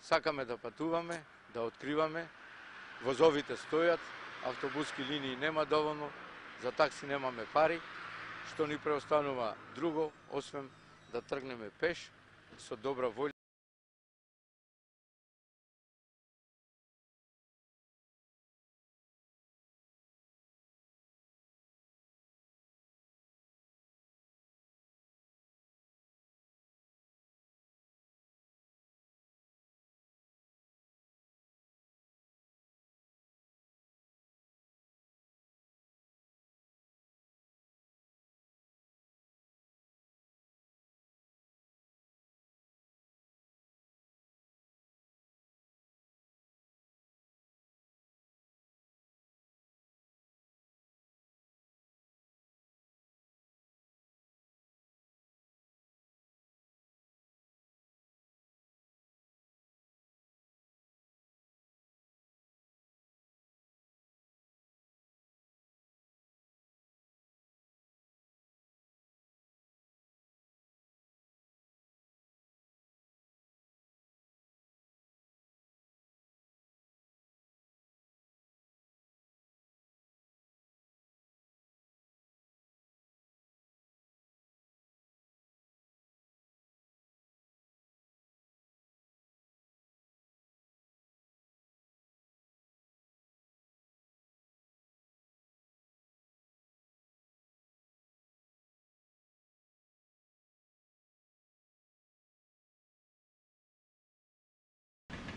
Сакаме да патуваме, да откриваме, возовите стојат, автобуски линии нема доволно, за такси немаме пари, што ни преостанува друго, освен да тргнеме пеш, со добра волја.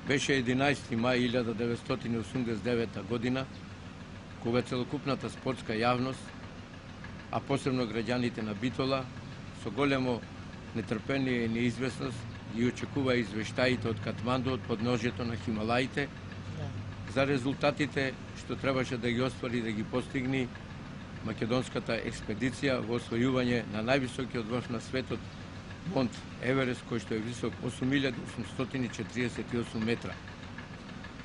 Беше 11. мај 1989 година, кога целокупната спортска јавност, а посебно граѓаните на Битола, со големо нетрпение и неизвестност ги очекува извештаите од Катманду, од подножјето на Хималаите, за резултатите што требаше да ги оствари и да ги постигни македонската експедиција во освојување на највисокиот врв на светот, Монт Еверест, кој што е висок 8848 метра.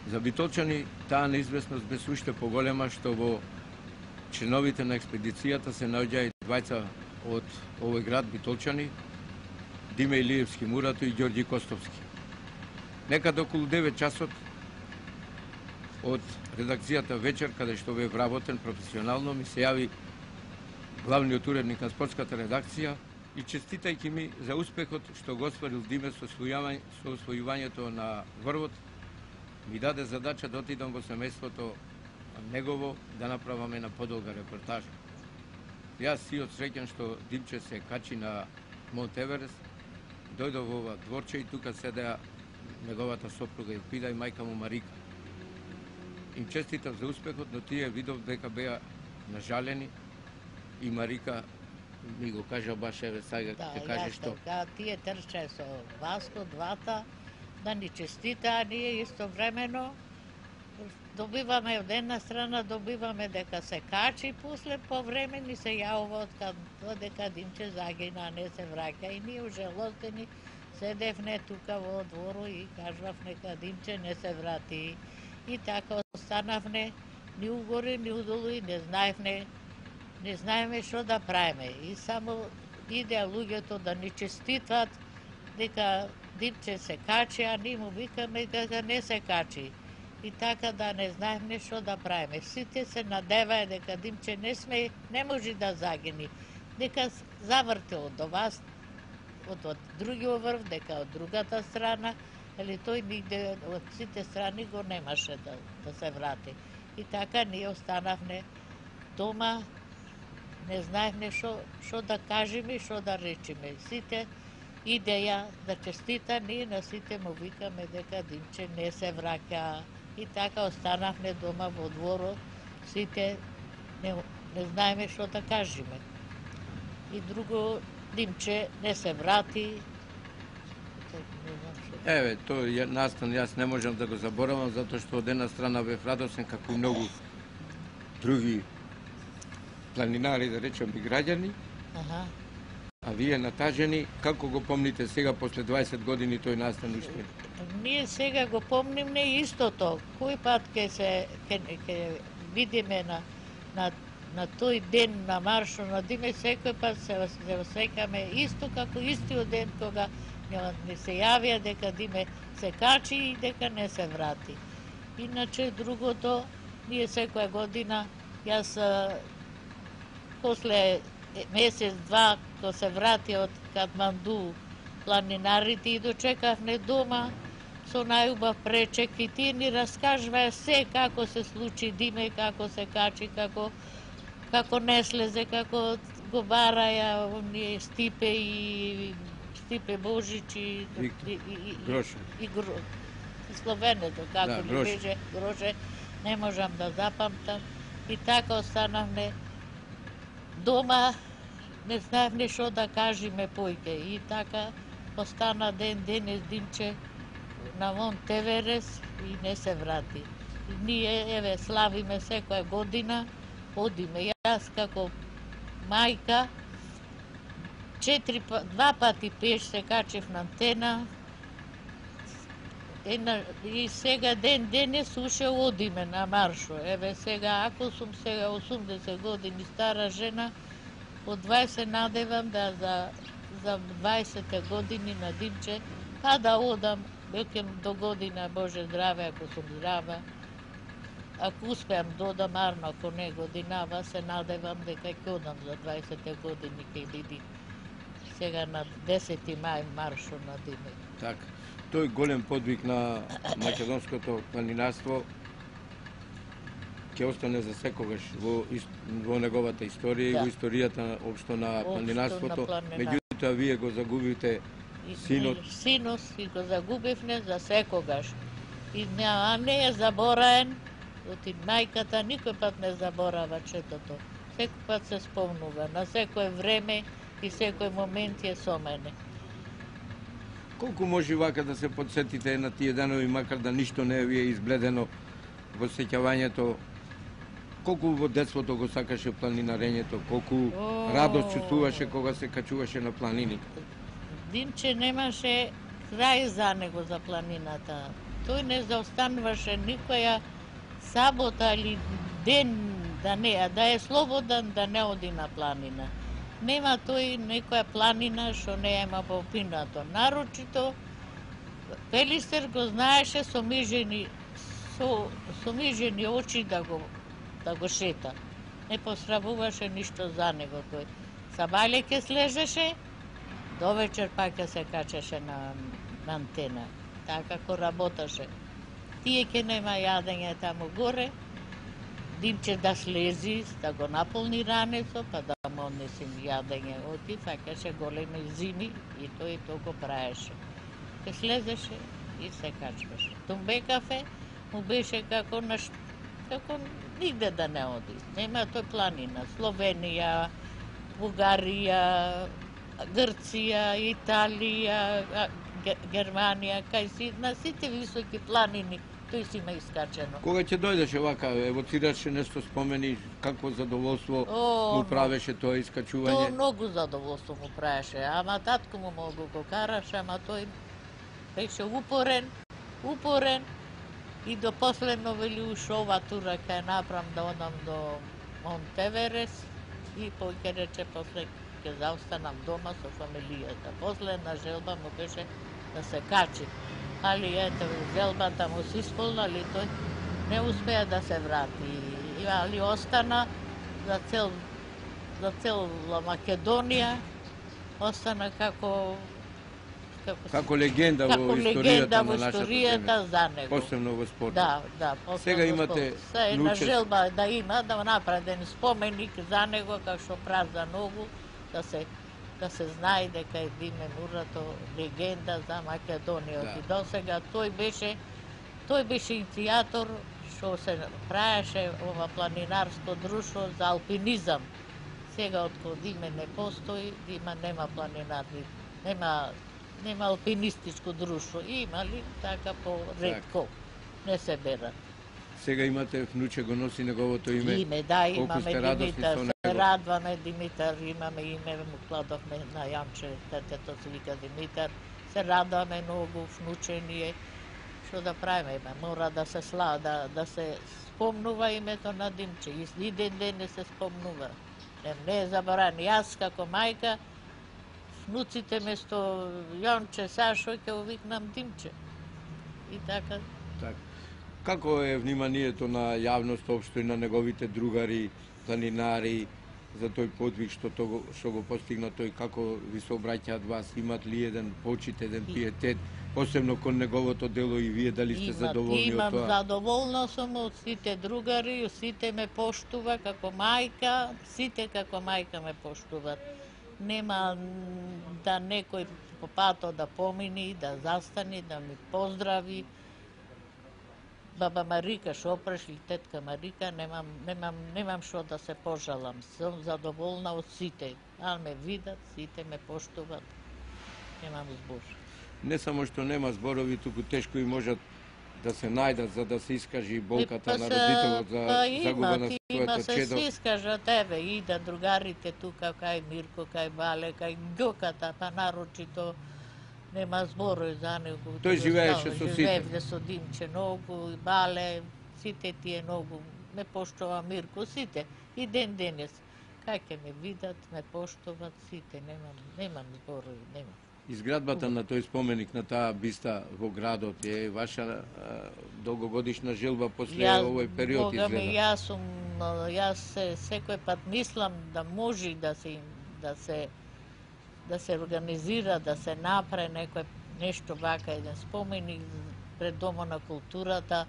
За битолчани таа неизвестност беше уште поголема, што во членовите на експедицијата се наоѓаат двајца од овој град битолчани, Диме Илиевски Мурато и Ѓорѓи Костовски. Некаде околу 9 часот од редакцијата вечер, каде што бе вработен професионално, ми се јави главниот уредник на спортската редакција и честитајќи ми за успехот што го остварил Диме со освојувањето на врвот, ми даде задача да отидам во семејството негово да направаме на подолга репортажа. Јас си од среќен што Димче се качи на Монт Еверест, дојдов во ова дворче и тука седеа неговата сопруга Илпида и мајка му Марика. Им честитав за успехот, но тие видов дека беа нажалени и Марика ми го кажа баш еве сега ќе каже што. Да, тие трчаја со Васко, двата, да ни честитаа, ние истовремено добиваме од една страна, добиваме дека се качи, после по време ни се јавува од дека Димче загина, не се враќа и ние ужалостени седевне тука во двору и кажував нека Димче не се врати. И така останавне ни угоре, ни удолу и не знаеме што да правиме. И само идеа луѓето да ни честитат дека Димче се качи, а ние му викаме дека не се качи. И така да не знаеме што да правиме. Сите се надеваја дека Димче не може да загини. Дека завртел до вас, од другиот врв, дека од другата страна, или тој нигде од сите страни го немаше да се врати. И така ние останавме дома, не знаевме што да кажеме и што да речеме. Сите идеја да честита, ние на сите му викаме дека Димче не се враќа. И така останавме дома во дворот, сите не знаеме што да кажеме. И друго, Димче не се врати. Еве, тој настан јас не можам да го заборавам, затоа што од една страна бев радосен како и многу други планинари, да речем, и граѓани. А вие натажени, како го помните сега, после 20 години тој настан уште? Ние сега го помниме истото. Кој пат ќе видиме на тој ден на маршот на Диме, секој пат се осеќаме исто како истиот ден кога не се јавија дека Диме се качи и дека не се врати. Иначе другото, ние секоја година, јас после месец-два, кога се врати од Катманду планинарите и дочекавме дома со најубав пречек и тие ни раскажуваа се како се случи Диме, како се качи, како не слезе, како го бараја оние Стипе Божич и Гроше. И Словенето, како ли Гроше. беше Гроше, не можам да запамтам. И така останавме дома, не знаевме што да кажеме поике. И така остана денес Димче на Монт Еверест и не се врати. И ние, еве, славиме секоја година, одиме. Јас како мајка, 2 пати пеш се качев на антена, и сега денес уште одиме на маршо. Еве сега, ако сум сега 80 години стара жена, од 20 надевам да за 20 години на Димче, па да одам, веќе до година, Боже здраве, ако сум здрава. Ако успеам да одам, арно, ако не годинава, се надевам дека ќе одам за 20 години кај Диди. Сега на 10 мај маршо на Диме. Така. Тој голем подвиг на македонското планинарство ќе остане за секогаш во неговата историја и во историјата општо на планинарството. Меѓутоа, вие го загубите синот. Синот и го загубивме за секогаш. А не е забораен, оти мајката никој пат не заборава четото. Секој пат се спомнува, на секој време и секој момент е со мене. Колку може вака да се подсетите на тие денови, макар да ништо не ви е избледено во сеќавањето? Колку во детството го сакаше планинарењето? Колку радост чувствуваше кога се качуваше на планини? Димче немаше крај за него за планината. Тој не заостануваше никоја сабота или ден да е слободен да не оди на планина. Нема тој некоја планина што не има попинато. Нарочито Пелистер го знаеше со мижени очи да го шета. Не посрамуваше ништо за него тој. Сабајле ке слежеше, до вечер пак ќе се качеше на антена. Така како работеше. Тие ке нема јадење таму горе, Димче да слези, да го наполни ранецо, па да му однесим јадење. Оти факаше големи зими и тој го праеше. Ке слезеше и се качваше. Тумбекафе му беше како нигде да не оди. Нема тој планина. Словенија, Бугарија, Грција, Италија, Германија, на сите високи планини тој си има искачено. Кога ќе дојдеше вака, евоцираше нешто спомени, какво задоволство му правеше тоа искачување? Тоа многу задоволство му правеше, ама татко му многу го караше, ама тој беше упорен и до последно вели уш ова тура ке направам да одам до Монт Еверест и поќе рече после ке заостанам дома со фамилијата. Последна желба му беше да се качи. Али ето, желбата му се исполна, али тој не успеа да се врати. Али остана за цела Македонија, остана како легенда во историјата на нашата земја. За него. Посебно во спортот. Да, посебно. Сега имате на желба да има, да направи еден споменик за него, како што праза многу, да се знае дека е Диме Мурато легенда за Македонија. И досега тој беше иницијатор што се правеше ова планинарско друштво за алпинизам. Сега откако Диме не постои, нема планинарни, нема алпинистичко друштво. Има ли така по-ретко, не се берат. Сега имате внуче, го носи неговото име. Имаме Димитар, се радваме Димитар, имаме име, му кладовме на Јанче, детето се вика Димитар, се радваме многу, внуче ни е, што да правиме, мора да се да се спомнува името на Димче, и ден не се спомнува. Не е заборан. Јас како мајка внуците место Јонче, Сашо, ќе викнам Димче. И така. Така. Како е вниманието на јавност општо и на неговите другари, планинари, за тој подвиг што го постигна тој, како ви се обраќаат вас, имат ли еден почит, еден пиетет, посебно кон неговото дело и вие дали сте задоволни од тоа? Имам задоволна сум од сите другари, сите ме поштува како мајка, сите како мајка ме поштуваат. Нема да некој по патот да помини, да застани, да ми поздрави. Баба Марика што опреш или тетка Марика, немам што да се пожалам. Сум задоволна од сите. А ме видат, сите ме поштуваат. Немам збор. Не само што нема зборови, туку тешко и можат да се најдат за да се искажи болката на родителот за загуба на своето чедо. Се искажат, еве, и да другарите тука, кај Мирко, кај Бале, кај Ѓоката, па нарочито нема зборови за него. Тој живееше со сите. Живеевте со Димче многу, и Бале, сите тие многу ме поштува Мирко, сите. И ден денес. Кај ќе ме видат, ме поштуват сите, немам зборови, немам. Изградбата на тој споменик на таа биста во градот е ваша долгогодишна желба после овој период изгледа? Јас секој пат мислам да може да се организира, да се направи нешто вака, еден споменик пред Домот на културата,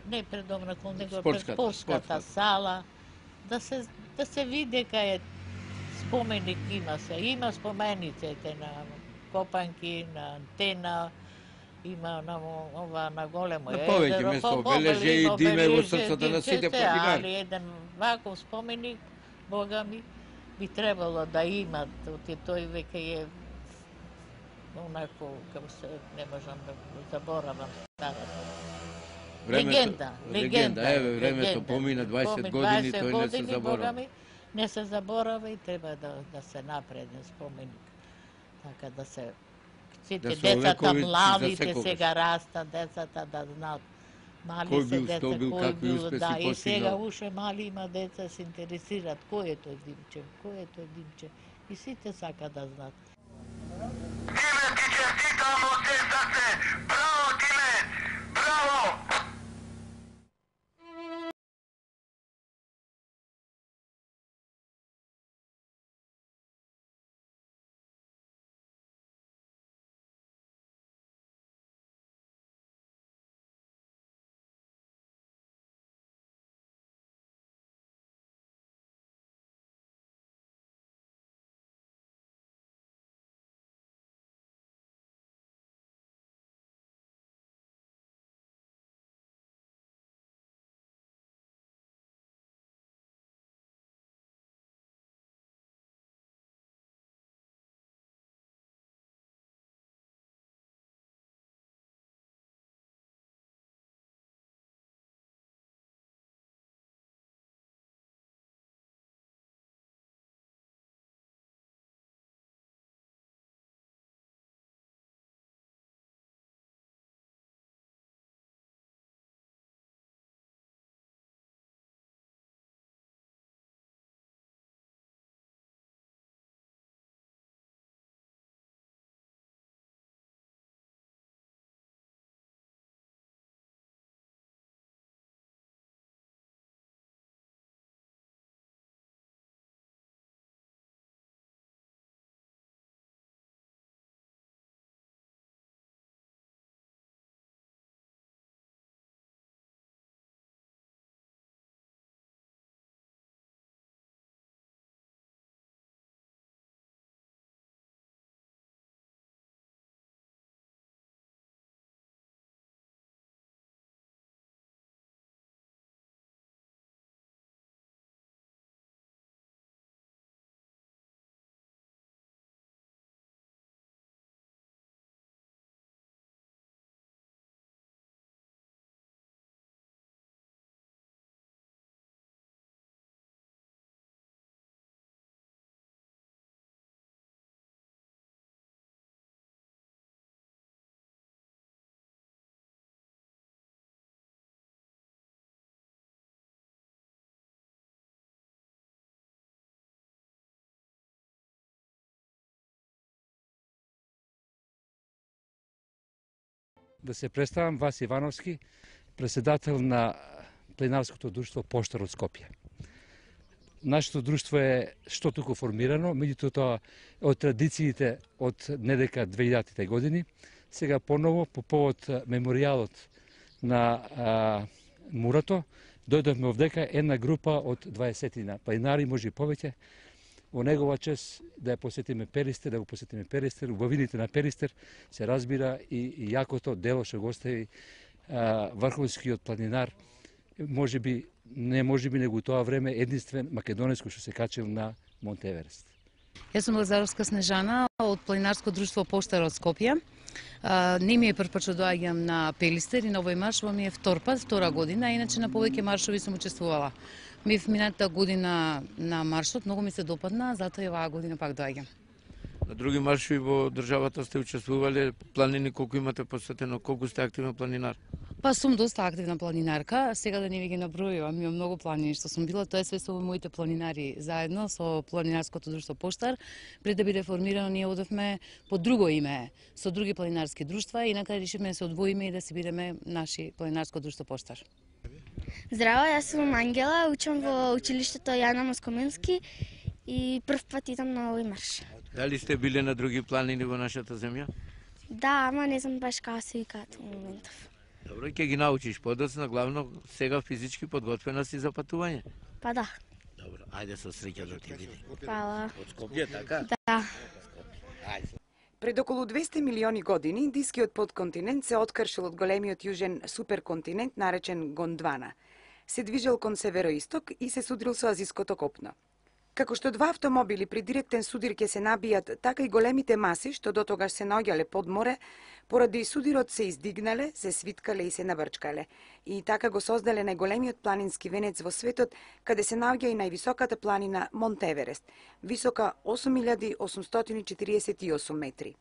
не пред Домот на културата, него пред спортската сала, да се види кај е споменик има спомениците на Копанки, на Антена, има на големо езеро. На повеќе место обележи и диме во срцата на сите планинари. Али еден ваков споменик, Бога ми, би требало да имат, тој веќе е онако, како се, не можам да заборавам старата. Легенда. Еве, времето помина 20 години, тој не се заборава. Не се заборава и треба да се направи еден споменик. Така да се сите децата, младите сега растат, децата да знаат. Мали се деца, кој бил, да, и сега уште мали има деца се интересираат кој е тој Димче, и сите сака да знаат. Диме, ти честитамо се, браво Диме, браво! Да се представам, Васи Ивановски, председател на Планинарското друштво Поштар од Скопје. Нашето друштво е што туку формирано, меѓутоа тоа од традициите од недека 2000-те години. Сега поново, по повод меморијалот на Мурато, дојдовме овдека една група од 20 планинари, може и повеќе, во негова чест да ја посетиме Перистер, да го посетиме Перистер, убавините на Перистер се разбира и јакото дело што го остави врховскиот планинар, него тоа време единствен македонец кој што се качил на Монт Еверест. Јас сум Лазаровска Снежана од Планинарско друштво Поштар од Скопје. Не ми е прв пат што доаѓам на Перистер и на овој марш, ми е втора година, иначе на повеќе маршови сум учествувала. Бев минатата година на маршот, многу ми се допадна, затоа и оваа година пак доаѓам. На други маршови во државата сте учествувале, планини колку имате посетено, колку сте активен планинар? Па сум доста активна планинарка, сега да не ви ги набројувам, имам многу планини што сум била, тоа е све со моите планинари заедно со Планинарското друштво Поштар. Пред да биде формирано, ние одевме под друго име, со други планинарски друштва и на крај решивме да се одвоиме и да си бидеме наши Планинарско друштво Поштар. Здраво, јас сум Ангела, учам во училиштето Јана Москоменски и прв пат идам на овој марш. Дали сте биле на други планини во нашата земја? Да, ама не знам баш како се викаат во моментов. Добро, ќе ги научиш подоцна, главно сега физички подготвена си за патување. Па да. Добро, ајде со среќа да ти биде. Фала. Од Скопје, така? Да. Пред околу 200 милиони години индискиот подконтинент се откршил од големиот јужен суперконтинент наречен Гондвана. Се движел кон североисток и се судрил со азиското копно. Како што два автомобили при директен судир ќе се набијат, така и големите маси што дотогаш се наоѓале под море, поради судирот се издигнале, се свиткале и се наврчкале. И така го создале најголемиот планински венец во светот, каде се наоѓа и највисоката планина Монт Еверест, висока 8848 метри.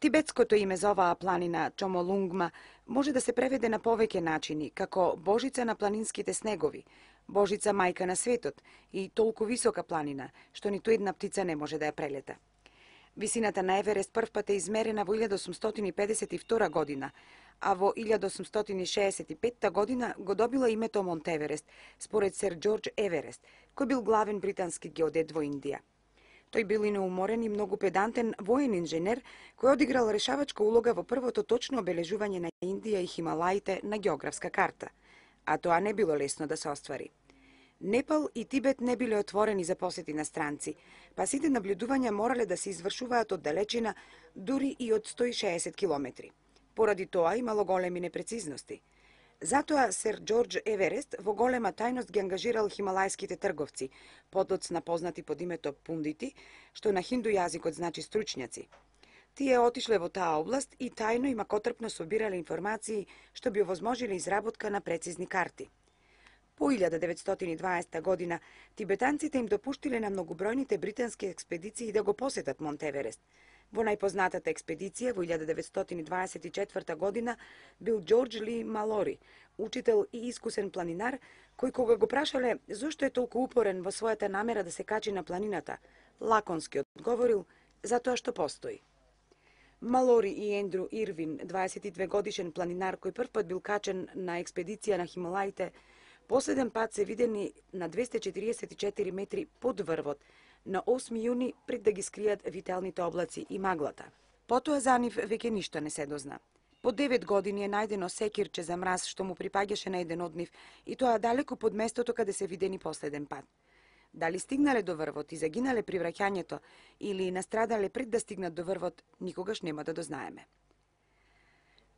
Тибетското име за оваа планина, Чомолунгма, може да се преведе на повеќе начини, како Божица на планинските снегови, Божица мајка на светот и толку висока планина, што ниту една птица не може да ја прелета. Висината на Еверест првпат е измерена во 1852 година, а во 1865 година го добила името Монт Еверест, според сер Џорџ Еверест, кој бил главен британски геодет во Индија. Тој бил и неуморен и многу педантен воен инженер, кој одиграл решавачка улога во првото точно обележување на Индија и Хималаите на географска карта, а тоа не било лесно да се оствари. Непал и Тибет не биле отворени за посети на странци, па сите наблюдувања морале да се извршуваат од далечина, дури и од 160 километри. Поради тоа имало големи непрецизности. Затоа сер Џорџ Еверест во голема тајност ги ангажирал хималајските трговци, подоцна познати под името пундити, што на хинду јазикот значи стручњаци. Тие отишле во таа област и тајно и макотрпно собирале информации што би овозможиле изработка на прецизни карти. По 1920 година тибетанците им допуштиле на многобројните британски експедиции да го посетат Монт Еверест. Во најпознатата експедиција во 1924 година бил Џорџ Ли Малори, учител и искусен планинар, кој кога го прашале зошто е толку упорен во својата намера да се качи на планината, лаконски одговорил затоа што постои. Малори и Ендрю Ирвин, 22 годишен планинар кој првпат бил качен на експедиција на Хималаите, последен пат се видени на 244 метри под врвот, на 8 јуни пред да ги скријат вителните облаци и маглата. Потоа за нив веќе ништо не се дозна. По 9 години е најдено секирче за мраз што му припаѓаше на еден од нив и тоа далеку под местото каде се видени последен пат. Дали стигнале до врвот и загинале при враќањето или настрадале пред да стигнат до врвот, никогаш нема да дознаеме.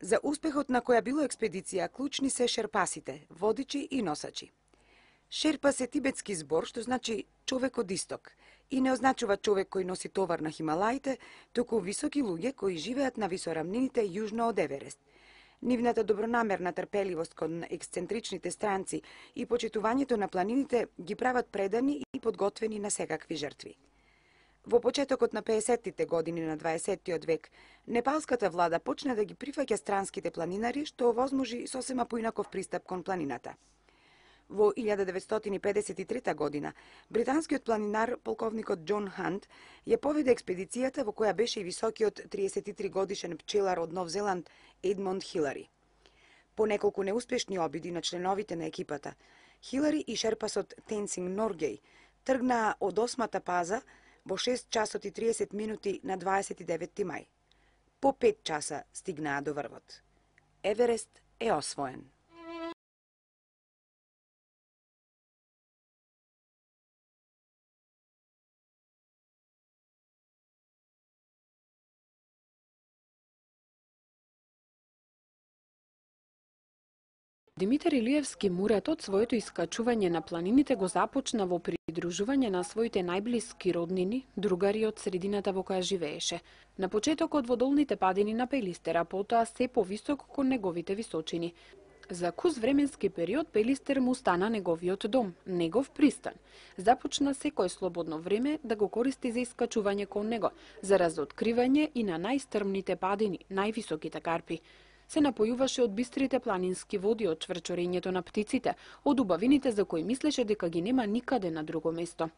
За успехот на која било експедиција клучни се шерпасите, водичи и носачи. Шерпас е тибетски збор што значи човек од исток и не означува човек кој носи товар на Хималаите, туку високи луѓе кои живеат на висорамнините јужно од Еверест. Нивната добронамерна трпеливост кон ексцентричните странци и почитувањето на планините ги прават предани и подготвени на секакви жртви. Во почетокот на 50-тите години на 20-тиот век, непалската влада почна да ги прифаќа странските планинари, што овозможи сосема поинаков пристап кон планината. Во 1953 година, британскиот планинар полковникот Џон Хант ја поведе експедицијата во која беше и високиот 33 годишен пчелар од Нов Зеланд Едмонд Хилари. По неколку неуспешни обиди на членовите на екипата, Хилари и шерпасот Тенсинг Норгеј тргнаа од 8-та паза во 6 часот и 30 минути на 29 мај. По 5 часа стигнаа до врвот. Еверест е освоен. Димитар Илиевски Муратот своето искачување на планините го започна во придружување на своите најблиски роднини, другари од средината во која живееше. На почетокот во долните падини на Пелистер, а потоа се повисок кон неговите височини. За кус временски период Пелистер му стана неговиот дом, негов пристан. Започна секој слободно време да го користи за искачување кон него, за разоткривање и на најстрмните падини, највисоките карпи. Се напојуваше од бистрите планински води, од чврчорењето на птиците, од убавините за кои мислеше дека ги нема никаде на друго место.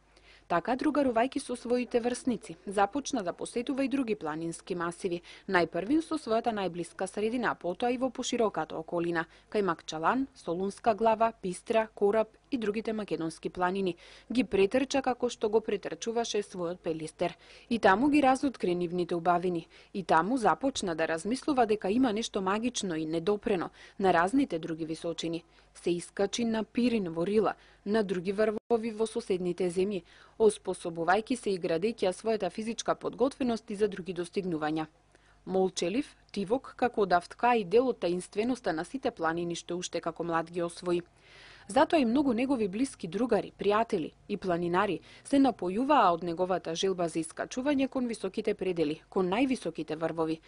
Така, другарувајќи со своите врсници, започна да посетува и други планински масиви, најпрвин со својата најблиска средина, потоа и во пошироката околина, кај Макчалан, Солунска глава, Пистра, Кораб и другите македонски планини. Ги претрча како што го претрчуваше својот Пелистер. И таму ги разоткри нивните убавини. И таму започна да размислува дека има нешто магично и недопрено на разните други височини. Се искачи на Пирин во Рила, на други врвови во соседните земји, оспособувајќи се и градејќи својата физичка подготвеност и за други достигнувања. Молчелив, тивок, како давтка и дел од таинственоста на сите планини што уште како млад ги освои. Затоа и многу негови блиски другари, пријатели и планинари се напојуваа од неговата желба за искачување кон високите предели, кон највисоките врвови.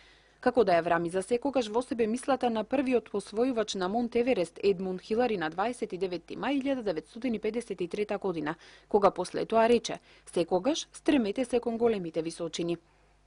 Како да ја врами за секогаш во себе мислата на првиот освојувач на Монт Еверест Едмунд Хилари на 29 мај 1953 година, кога после тоа рече: "Секогаш стремете се кон големите височини."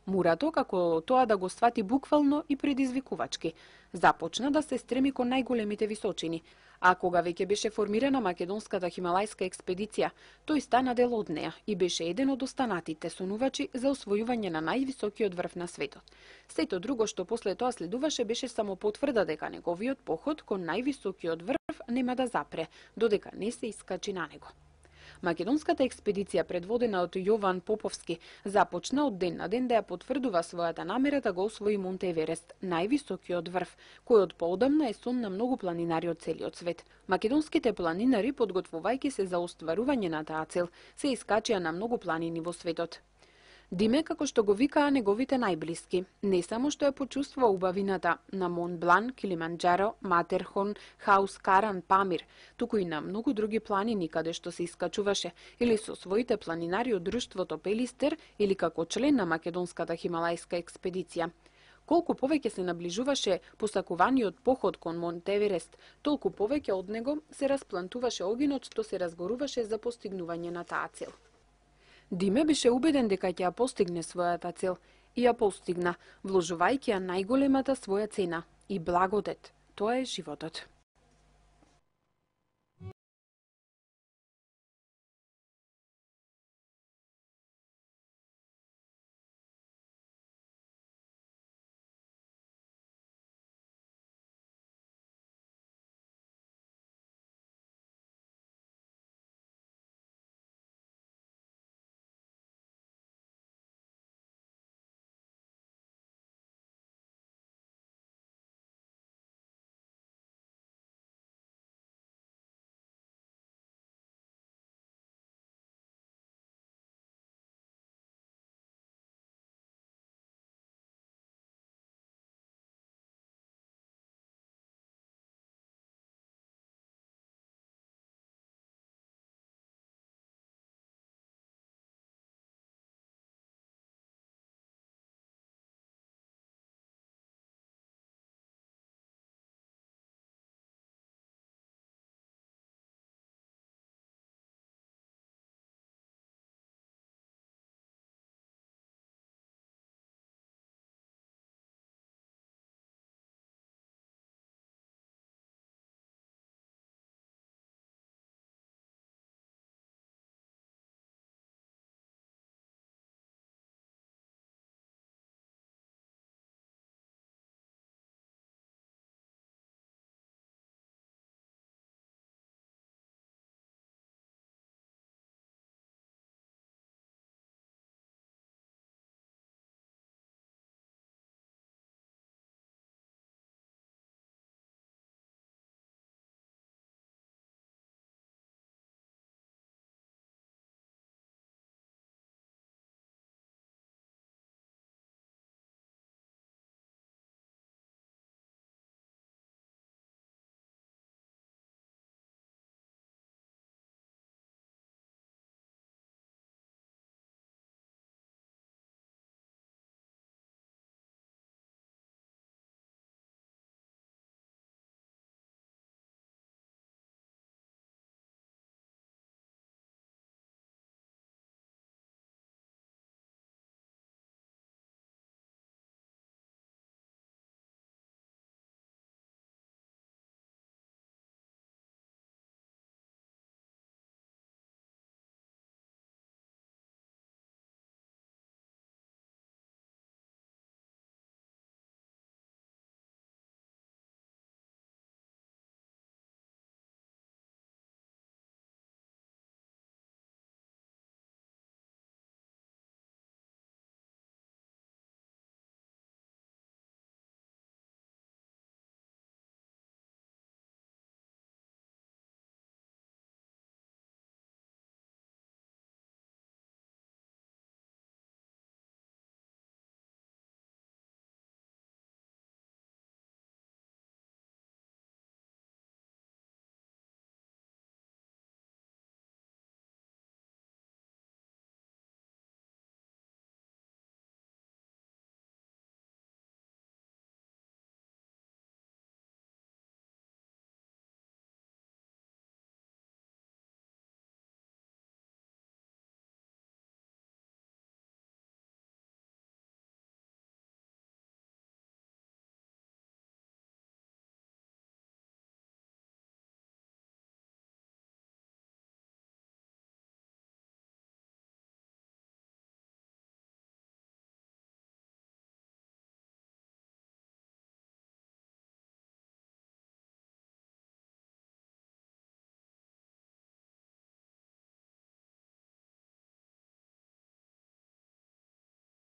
Мурато, како тоа да го свати буквално и предизвикувачки, започна да се стреми кон најголемите височини, а кога веќе беше формирана македонската хималајска експедиција, тој стана дел од неа и беше еден од останатите сонувачи за освојување на највисокиот врв на светот. Сето друго што после тоа следуваше беше само потврда дека неговиот поход кон највисокиот врв нема да запре, додека не се искачи на него. Македонската експедиција, предводена од Јован Поповски, започна од ден на ден да ја потврдува својата намера да го освои Монт Еверест, највисокиот врв, кој од поодамна е сон на многу планинари од целиот свет. Македонските планинари, подготвувајќи се за остварување на таа цел, се искачија на многу планини во светот. Диме, како што го викаа неговите најблиски, не само што ја почувствува убавината на Монт Блан, Килиманџаро, Матерхон, Хаус Каран, Памир, туку и на многу други планини каде што се искачуваше, или со своите планинари од друштвото Пелистер, или како член на македонската хималајска експедиција. Колку повеќе се наближуваше посакуваниот поход кон Монт Еверест, толку повеќе од него се расплантуваше огинот што се разгоруваше за постигнување на таа цел. Диме беше убеден дека ќе ја постигне својата цел и ја постигна, вложувајќи ја најголемата своја цена и благодет. Тоа е животот.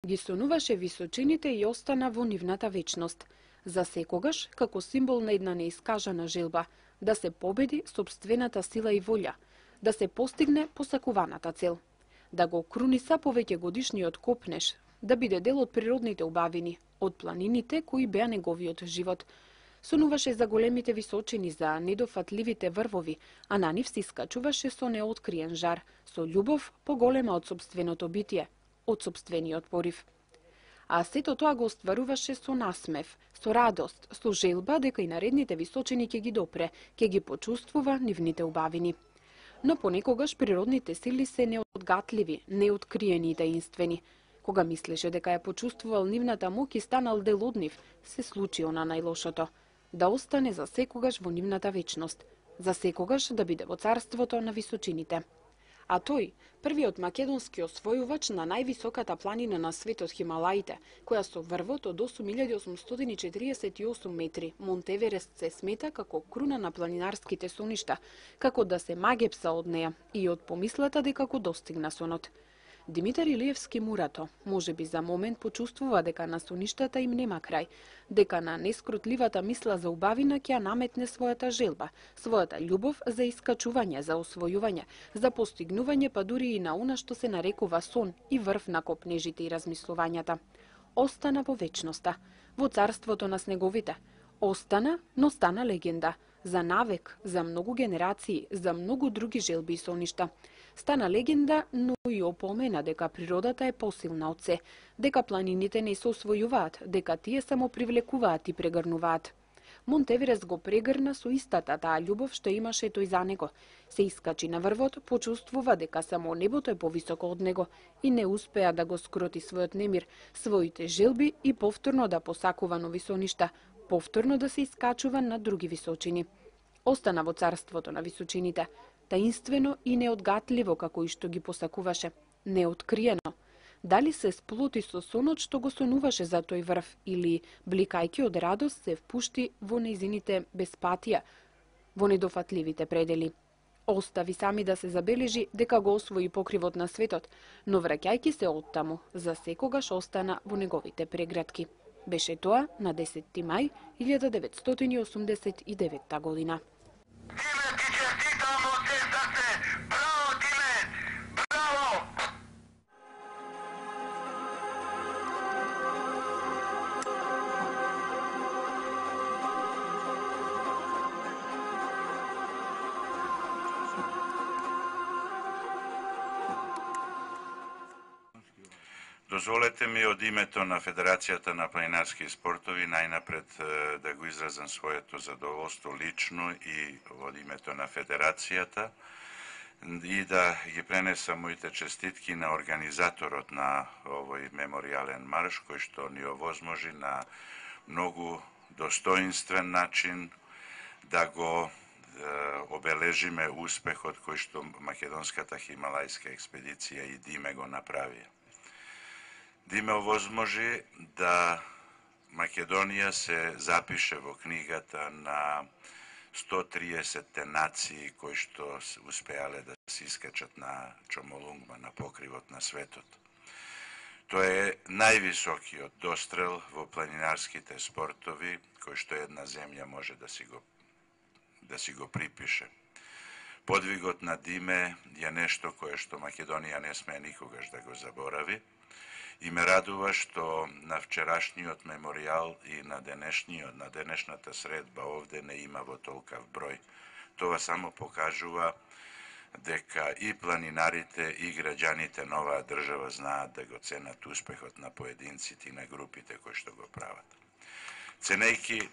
ги сонуваше височините и остана во нивната вечност. За секогаш, како символ на една неискажана желба, да се победи сопствената сила и волја, да се постигне посакуваната цел, да го круниса повеќе годишниот копнеш, да биде дел од природните убавини, од планините кои беа неговиот живот. Сонуваше за големите височини, за недофатливите врвови, а на нив се искачуваше со неоткриен жар, со љубов поголема од сопственото битие, од сопствениот порив. А сето тоа го остваруваше со насмев, со радост, со желба дека и наредните височини ќе ги допре, ќе ги почувствува нивните убавини. Но понекогаш природните сили се неодгатливи, неоткриени и таинствени. Кога мислеше дека ја почувствувал нивната моќ и станал дел од нив, се случи она најлошото. Да остане за секогаш во нивната вечност, за секогаш да биде во царството на височините. А тој, првиот македонски освојувач на највисоката планина на светот Хималаите, која со врвот од 8848 метри, Монт Еверест се смета како круна на планинарските соништа, како да се магепса од неа и од помислата дека го достигна сонот. Димитар Илиевски Мурато, можеби за момент почувствува дека на соништата им нема крај, дека на нескрутливата мисла за убавина ќе наметне својата желба, својата љубов за искачување, за освојување, за постигнување, па дури и на она што се нарекува сон и врв на копнежите и размислувањата. Остана во вечноста, во царството на снеговите. Остана, но стана легенда, за навек, за многу генерации, за многу други желби и соништа. Стана легенда, но и опомена дека природата е посилна од се, дека планините не се освојуваат, дека тие само привлекуваат и прегрнуваат. Монт Еверест го прегрна со истата таа љубов што имаше тој за него. Се искачи на врвот, почувствува дека само небото е повисоко од него и не успеа да го скроти својот немир, своите желби и повторно да посакува нови соништа, повторно да се искачува на други височини. Остана во царството на височините, таинствено и неодгатливо како и што ги посакуваше, неоткриено. Дали се сплоти со сонот што го сонуваше за тој врв или, бликајќи од радост, се впушти во нејзините безпатија, во недофатливите предели. Остави сами да се забележи дека го освои покривот на светот, но враќајќи се оттаму, за секогаш остана во неговите прегратки. Беше тоа на 10. мај 1989 година. Диме, ти честитам од се срце. Браво, Диме! Браво! Дозволете ми од името на Федерацијата на планинарски спортови најнапред да го изразам своето задоволство лично и од името на Федерацијата и да ги пренесам моите честитки на организаторот на овој меморијален марш кој што ни овозможи на многу достоинствен начин да го обележиме успехот кој што македонската хималајска експедиција и Диме го направија. Диме овозможи да Македонија се запише во книгата на 130 нации кои што успеале да се искачат на Чомолунгма, на покривот на светот. Тоа е највисокиот дострел во планинарските спортови кој што една земја може да си го припише. Подвигот на Диме е нешто кое што Македонија не смее никогаш да го заборави. И ме радува што на вчерашниот меморијал и на денешната средба овде не има во толкав број. Тоа само покажува дека и планинарите и граѓаните на оваа држава знаат да го ценат успехот на поединците и на групите кои што го прават. Ценејќи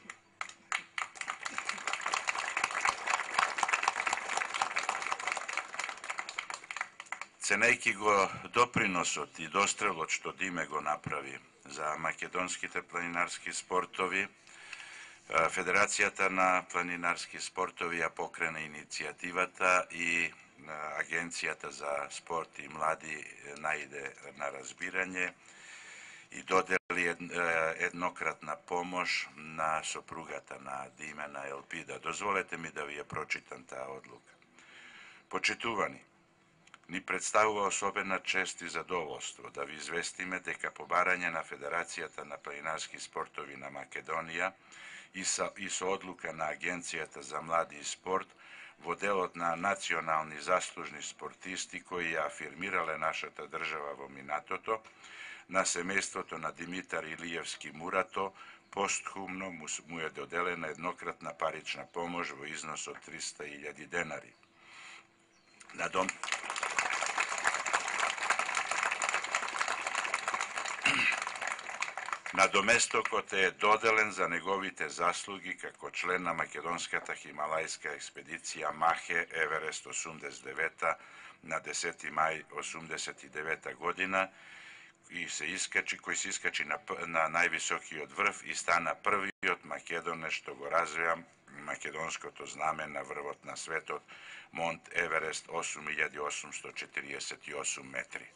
го доприносот и дострелот што Диме го направи за македонските планинарски спортови, Федерацијата на планинарски спортови ја покрена иницијативата и Агенцијата за спорт и млади најде на разбирање и додели еднократна помош на сопругата на Диме, на Елпида. Дозволете ми да ви ја прочитам таа одлука. Почитувани, Ни представува особена чест и задоволство да ви известиме дека по барање на Федерацијата на планинарски спортови на Македонија и со одлука на Агенцијата за млади и спорт во делот на национални заслужни спортисти кои ја афирмирале нашата држава во минатото, на семејството на Димитар Илиевски Мурато постхумно му е доделена еднократна парична помош во износ од 300.000 денари. Надоместокот е доделен за неговите заслуги како член на македонската хималајска експедиција Махе Еверест 89 на 10. мај 89 година кој се искачи на највисокиот врв и стана првиот македонец што го развија македонското знаме на врвот на светот Монт Еверест 8848 метри.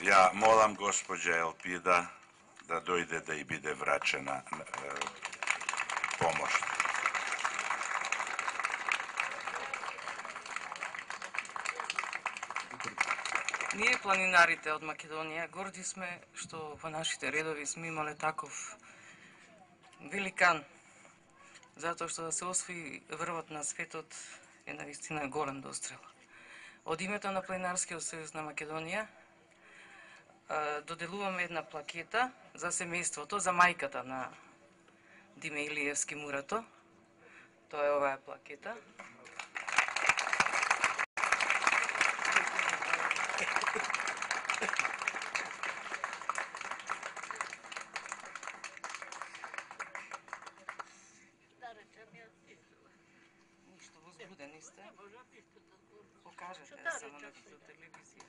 Ја молам госпоđа Елпида да дојде да и биде врачена помош. Ние планинарите од Македонија горди сме што во нашите редови сме имале таков великан, затоа што да се освои врвот на светот е навистина голем дострел. Од името на Планинарскиот сојуз на Македонија доделуваме една плакета за семејството, за мајката на Диме Илиевски Мурато. Тоа е оваа плакета. Ништо возбудени сте? Покажете само на телевизија.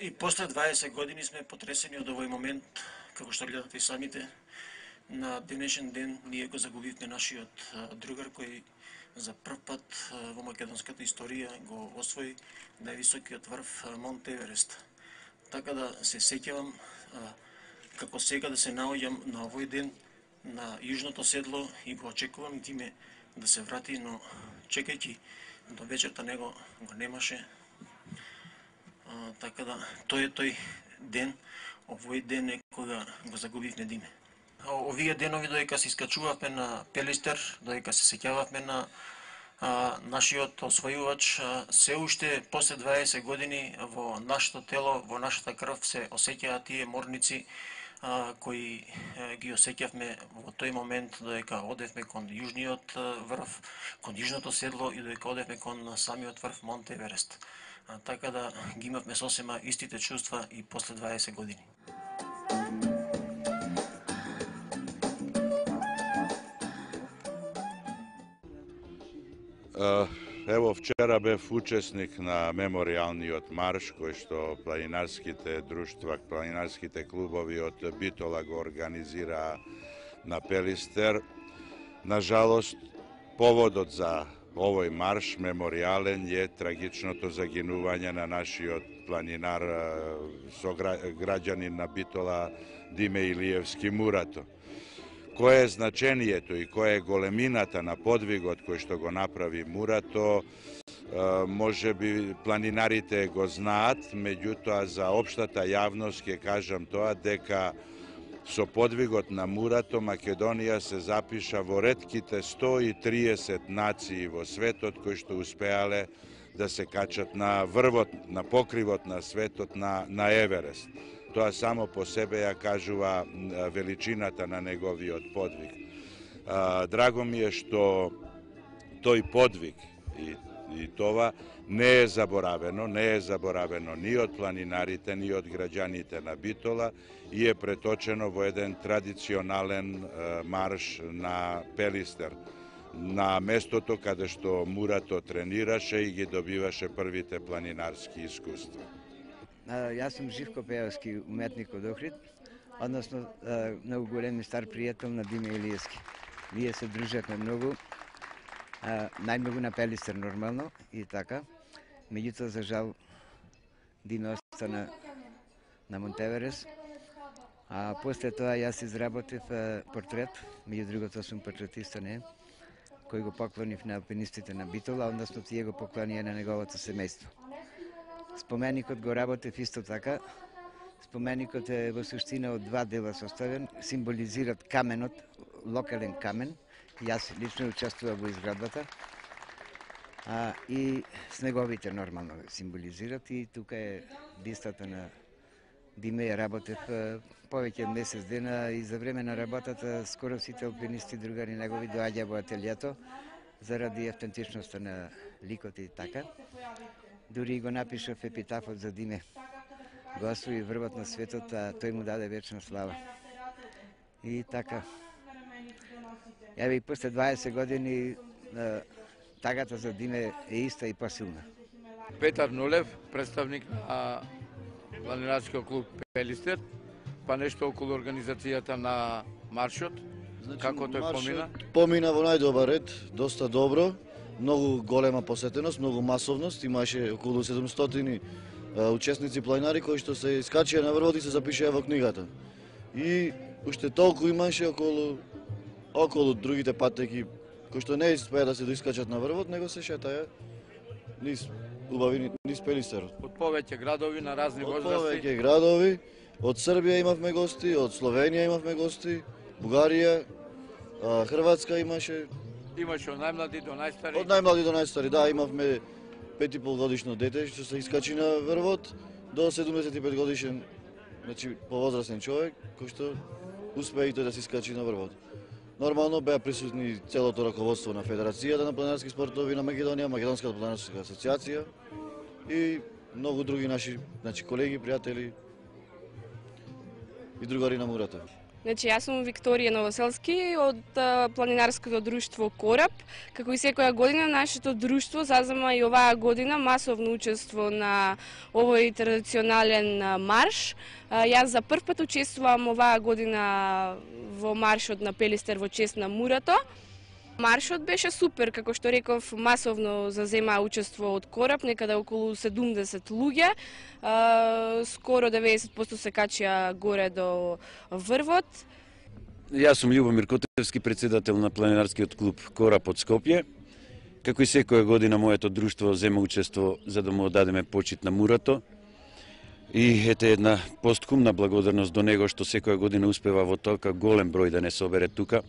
И после 20 години сме потресени од овој момент, како што гледате и самите. На денешен ден ние го загубивме нашиот другар кој за прв пат во македонската историја го освои највисокиот врв Монт Еверест. Така да се сеќавам како сега да се наоѓам на овој ден на јужното седло и го очекувам Диме да се врати, но чекајќи до вечерта него го немаше. Така да тој е тој ден, овој ден е кога го загубивме Диме. Овие денови додека се искачувавме на Пелистер, додека се сеќававме на нашиот освојувач, се уште после 20 години во нашето тело, во нашата крв се осеќаат тие морници кои ги осеќавме во тој момент додека одевме кон јужниот врв, кон јужното седло и додека одевме кон самиот врв Монт Еверест. Така да ги имавме сосема истите чувства и после 20 години. Ево, вчера бев учесник на меморијалниот марш кој што планинарските друштва, планинарските клубови од Битола го организира на Пелистер. Нажалост, поводот за овој марш меморијален е трагичното загинување на нашиот планинар, сограѓанин на Битола Диме Илиевски Мурато. Кое е значението и која е големината на подвигот кој што го направи Мурато, може би планинарите го знаат, меѓутоа за општата јавност ќе кажам тоа дека со подвигот на Мурато Македонија се запиша во ретките 130 нации во светот кои што успеале да се качат на врвот, на покривот на светот на Еверест. Тоа само по себе ја кажува величината на неговиот подвиг. Драго ми е што тој подвиг и това не е заборавено ни од планинарите, ни од граѓаните на Битола и е преточено во еден традиционален марш на Пелистер, на местото каде што Мурато тренираше и ги добиваше првите планинарски искуства. Јас сум Живко Пеевски, уметник од Охрид, односно многу голем и стар пријател на Диме Илиевски. Ние се дружевме многу Најмногу на Пелистер нормално и така. Меѓутоа, за жал, Диме остана на Монтеверес. А после тоа јас изработив портрет, меѓу другото сум портретиста, не, кој го поклонив на алпинистите на Битола, односно тие го поклонија на неговото семејство. Споменикот го работев исто така. Споменикот е во суштина од два дела составен, символизират каменот, локален камен. Јас лично учествував во изградбата. И снеговите нормално символизират и тука е бистата на Диме. Ја работев повеќе од месец дена и за време на работата скоро сите алпинисти другари негови доаѓаа во ателието заради автентичноста на ликот и така. Дури го напишав епитафот за Диме. Го освои врвот на светот, а тој му даде вечна слава. И така. Еве и после 20 години тагата за Диме е иста и посилна. Петар Нулев, представник на планинарскиот клуб Пелистер, па нешто околу организацијата на маршот. Значи, како тој помина? Помина во најдобар ред, доста добро, многу голема посетеност, многу масовност, имаше околу 700 учесници планинари кои што се искачија на врвот и се запишаа во книгата. И уште толку имаше околу другите патеки кои што не успеа да се доискачат на врвот, него се шетаја низ Пелистерот. Од повеќе градови на разни возрасти. Од повеќе градови, од Србија имавме гости, од Словенија имавме гости, Бугарија, Хрватска имаше. Имаше од најмлади до најстари. Од најмлади до најстари, да, имавме 5,5 годишно дете што се искачи на врвот до 75 годишен, значи повозрастен човек кој што успеа и тој да се искачи на врвот. Нормално беа присутни целото раководство на Федерацијата на планинарски спортови на Македонија, Македонската планинарска асоциација и многу други наши, значи колеги, пријатели и другари на мурата. Значи, јас сум Викторија Новоселски од планинарското друштво Кораб. Како и секоја година, нашето друштво зазема и оваа година масовно учество на овој традиционален марш. Јас за прв пат учествувам оваа година во маршот на Пелистер во чест на мурато. Маршот беше супер, како што реков, масовно зазема учество од Кораб, некаде околу 70 луѓе. Скоро 90% се качија горе до врвот. Јас сум Љубомир Котевски, председател на планинарскиот клуб Кораб од Скопје. Како и секоја година моето друштво зема учество за да му одадеме почит на мурато. И ете една посткумна благодарност до него што секоја година успева во толка голем број да не собере тука.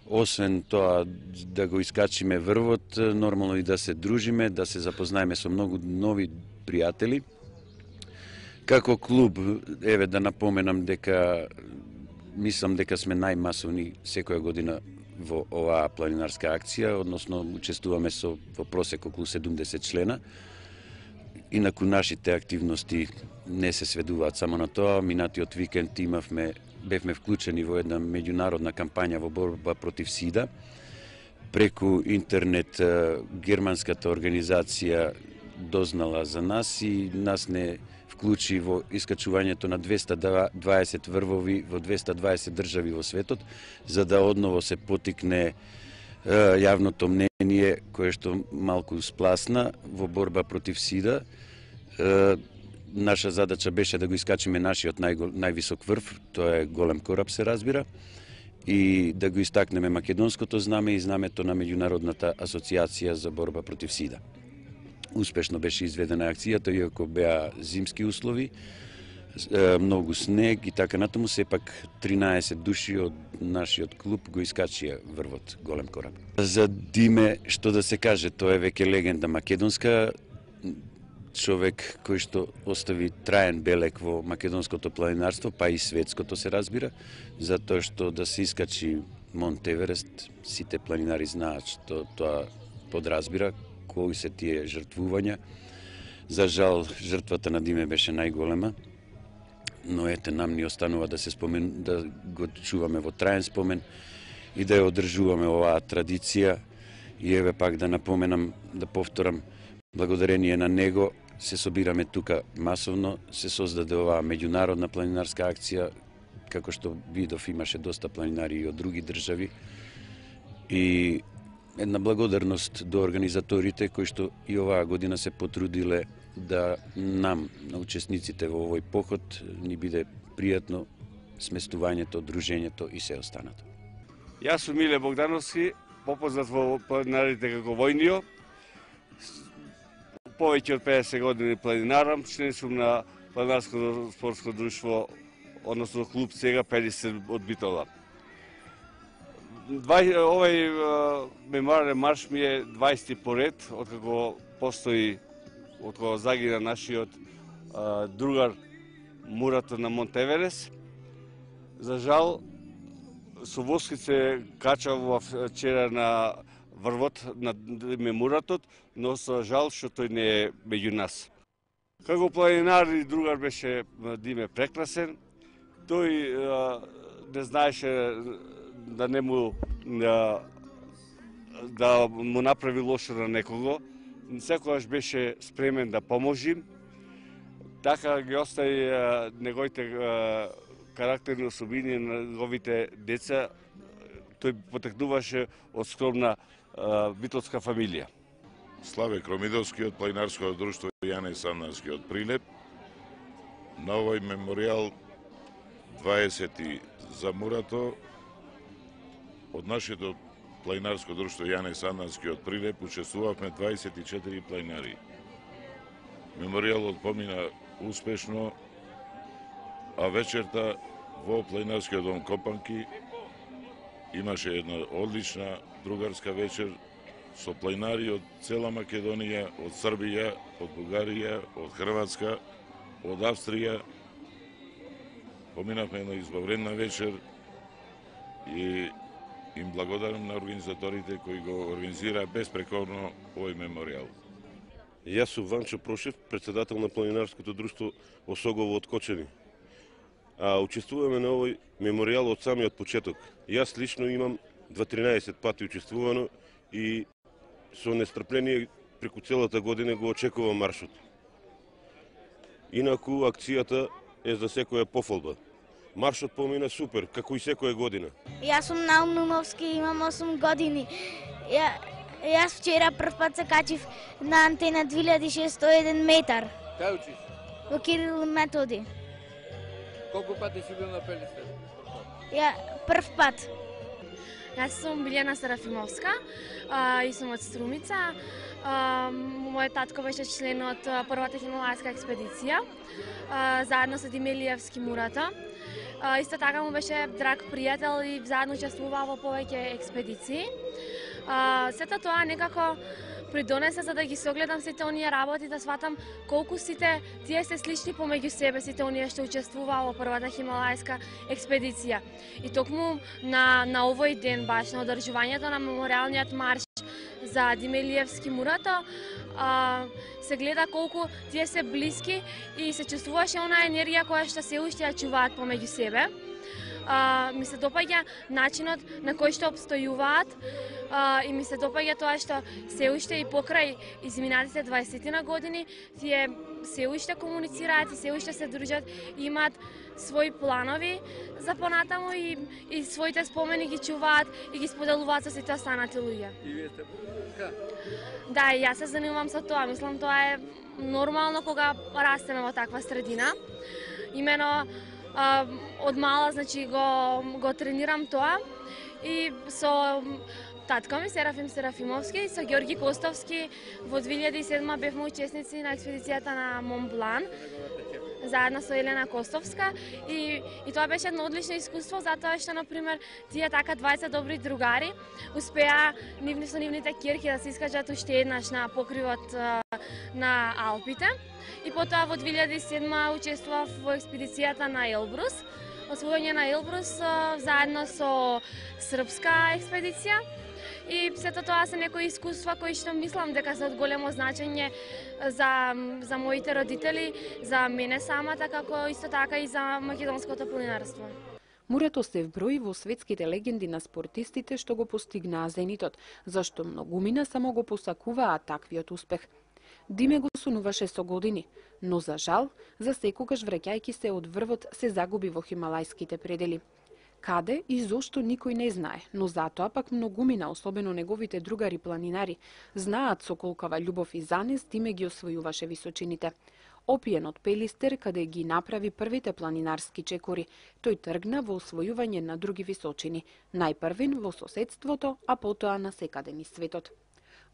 Освен тоа да го искачиме врвот, нормално и да се дружиме, да се запознаеме со многу нови пријатели. Како клуб, еве да напоменам дека мислам дека сме најмасовни секоја година во оваа планинарска акција, односно учествуваме во просек околу 70 члена. Инаку нашите активности не се сведуваат само на тоа. Минатиот викенд бевме вклучени во една меѓународна кампања во борба против СИДА. Преку интернет германската организација дознала за нас и нас не вклучи во искачувањето на 220 врвови во 220 држави во светот, за да одново се потикне јавното мнение кое што малку спласна во борба против СИДА. Наша задача беше да го искачиме нашиот највисок врв, тоа е Голем Кораб се разбира, и да го истакнеме македонското знаме и знамето на Меѓународната асоциација за борба против СИДА. Успешно беше изведена акцијата, иако беа зимски услови, многу снег и така натаму, сепак 13 души од нашиот клуб го искачија врвот Голем Кораб. За Диме, што да се каже, тоа е веќе легенда македонска, човек кој што остави траен белег во македонското планинарство, па и светското се разбира, затоа што да се искачи Монт Еверест, сите планинари знаат што тоа подразбира, кои се тие жртвувања. За жал, жртвата на Диме беше најголема, но ете, нам ни останува да се да го чуваме во траен спомен и да ја одржуваме оваа традиција. И еве пак да напоменам, да повторам, благодарение на него се собираме тука масовно, се создаде оваа меѓународна планинарска акција, како што видов имаше доста планинари и од други држави. И една благодарност до организаторите кои што и оваа година се потрудиле да нам, на учесниците во овој поход, ни биде пријатно сместувањето, дружењето и се останато. Јас сум Миле Богдановски, попознат во планинарите како војнио. Повеќе од 50 години планинарам, член сум на планинарското спортско друштво, односно клуб сега Пелистер од Битола. Овој мемориален марш ми е 20 поред, откако постои, откако загина нашиот другар Мурато на Монтеверес. За жал, со воски се качав вчера на врвот на Муратот, но за жал што тој не е меѓу нас. Како планинар и другар беше Диме прекрасен. Тој не знаеше да не му да му направи лошо на некого. Секогаш беше спремен да поможи. Така ги остави неговите карактерни особини на неговите деца. Тој потекнуваше од скромна битолска фамилија. Славе Кромидовски од планинарското друштво Јане Сандански од Прилеп. На овој меморијал 20 за Мурато од нашето планинарско друштво Јане Сандански од Прилеп учествувавме 24 планинари. Меморијалот помина успешно, а вечерта во планинарскиот дом Копанки имаше една одлична другарска вечер со планинари од цела Македонија, од Србија, од Бугарија, од Хрватска, од Австрија. Поминавме една избавредна вечер и им благодарам на организаторите кои го организираа безпрекорно овој меморијал. Јас сум Ванчо Прошев, председател на планинарското друштво Осогово од Кочани. Учествуваме на овој меморијал од самиот почеток. Јас лично имам 13 пати учествувано и со нестрпление преку целата година го очекувам маршот. Инаку акцијата е за секоја пофолба. Маршот помина супер, како и секоја година. Јас сум Наум Нумовски, имам 8 години. Јас вчера прв пат се качив на антена 2601 метар. Кај учиш? Во Кирил Методи. Колку пати си бил на Пелистер? Прв пат. Јас сум Билјана Серафимовска и сум од Струмица. Мојот татко беше член од првата хималајска експедиција, заедно со Диме Илиевски Мурато. Исто така му беше драг пријател и заедно учествуваа во повеќе експедиции. Сето тоа некако придонесе за да ги согледам сите оние работи, да сватам колку сите тие се слични помеѓу себе, сите оние што учествуваа во првата хималајска експедиција. И токму на овој ден, баш на одржувањето на меморијалниот марш за Диме Илиевски Мурато, се гледа колку тие се блиски и се чувствуваше онаа енергија која што се уште ја чуваат помеѓу себе. Ми се допаѓа начинот на кој што обстојуваат и ми се допаѓа тоа што се уште и покрај изминатите 20 на години тие се уште комуницираат и се уште се дружат и имаат своји планови за понатаму и своите спомени ги чуваат и ги споделуваат со сите останати луѓе. И вие сте така? Да, и јас се занимавам со тоа. Мислам тоа е нормално кога растеме во таква средина. Имено од мала, значи, го тренирам тоа и со татко ми Серафим Серафимовски и со Ѓорги Костовски во 2007 бевме учесници на експедицијата на Монблан заедно со Елена Костовска и тоа беше едно одлично искуство затоа што, например, тие така 20 добри другари успеа со нивните кирки да се искажат уште еднаш на покривот на Алпите. И потоа во 2007 учествував во експедицијата на Елбрус, освојање на Елбрус заедно со српска експедиција. И сето тоа се некои искуства кои што мислам дека се од големо значење за моите родители, за мене самата, како исто така и за македонското планинарство. Мурато се вброи во светските легенди на спортистите што го постигнаа зенитот, зашто многумина само го посакуваа таквиот успех. Диме го сонуваше со години, но за жал, за секогаш враќајќи се од врвот се загуби во хималајските предели. Каде и зошто никој не знае, но затоа пак многумина, особено неговите другари планинари, знаат со колкава љубов и занес Диме ги освојуваше височините. Опиен од Пелистер, каде ги направи првите планинарски чекори, тој тргна во освојување на други височини, најпрвин во соседството, а потоа на секаде низ светот.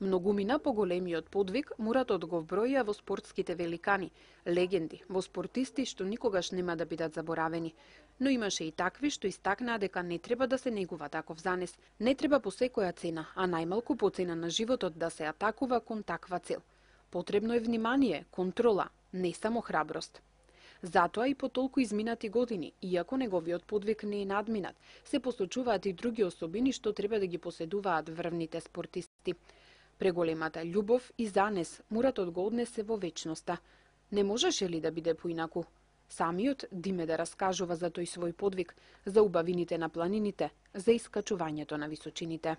Многумина по големиот подвиг Муратот го вброја во спортските великани, легенди, во спортисти што никогаш нема да бидат заборавени. Но имаше и такви што истакнаа дека не треба да се негува таков занес, не треба по секоја цена, а најмалку по цена на животот да се атакува кон таква цел. Потребно е внимание, контрола, не само храброст. Затоа и по толку изминати години, иако неговиот подвиг не е надминат, се посочуваат и други особини што треба да ги поседуваат врвните спортисти. Преголемата љубов и занес Муратот го однесе во вечноста. Не можеше ли да биде поинаку? Самиот Диме да раскажува за тој свој подвиг, за убавините на планините, за искачувањето на височините.